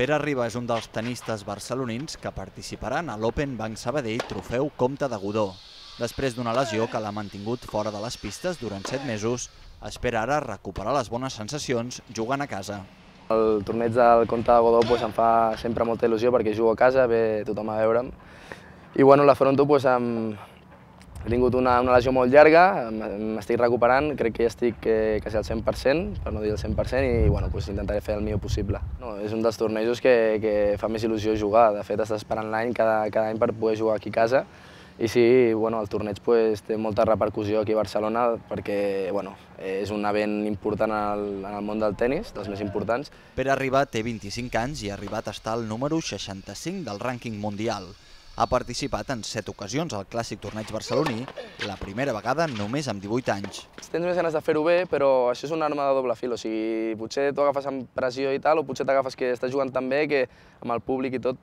Pere Riba és un dels tenistes barcelonins que participaran a l'Open Banc Sabadell Trofeu Comte de Godó. Després d'una lesió que l'ha mantingut fora de les pistes durant 7 mesos, espera ara recuperar les bones sensacions jugant a casa. El torneig del Comte de Godó em fa sempre molta il·lusió perquè jugo a casa, ve tothom a veure'm. I l'afronto he tingut una lesió molt llarga, m'estic recuperant, crec que ja estic quasi al 100%, per no dir el 100%, i intentaré fer el millor possible. És un dels tornejos que fa més il·lusió jugar, de fet estàs esperant l'any cada any per poder jugar aquí a casa, i sí, el torneig té molta repercussió aquí a Barcelona perquè és un event important en el món del tennis, dels més importants. Pere Riba té 25 anys i ha arribat a estar al número 65 del rànquing mundial. Ha participat en 7 ocasions al clàssic torneig barceloní, la primera vegada només amb 18 anys. Tens més ganes de fer-ho bé, però això és una arma de doble fil. O sigui, potser t'ho agafes amb pressió i tal, o potser t'agafes que estàs jugant tan bé que amb el públic i tot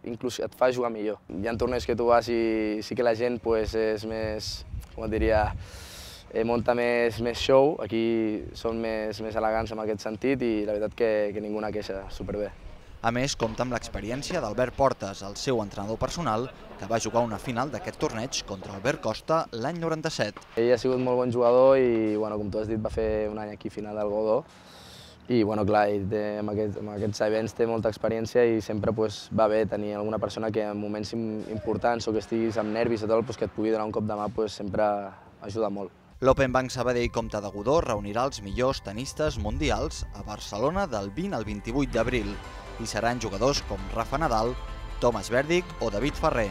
inclús et fa jugar millor. Hi ha torneigs que tu vas i sí que la gent és més, com et diria, munta més show. Aquí són més elegants en aquest sentit i la veritat que ningú no queixa, superbé. A més, compta amb l'experiència d'Albert Portes, el seu entrenador personal, que va jugar una final d'aquest torneig contra Albert Costa l'any 97. Ell ha sigut molt bon jugador i, com tu has dit, va fer un any aquí final del Godó. I, clar, amb aquests events té molta experiència i sempre va bé tenir alguna persona que en moments importants o que estiguis amb nervis i tot, que et pugui donar un cop de mà, sempre ajuda molt. L'Open Banc Sabadell Comte de Godó reunirà els millors tenistes mundials a Barcelona del 20 al 28 d'abril. Hi seran jugadors com Rafa Nadal, Thomas Berdych o David Ferrer.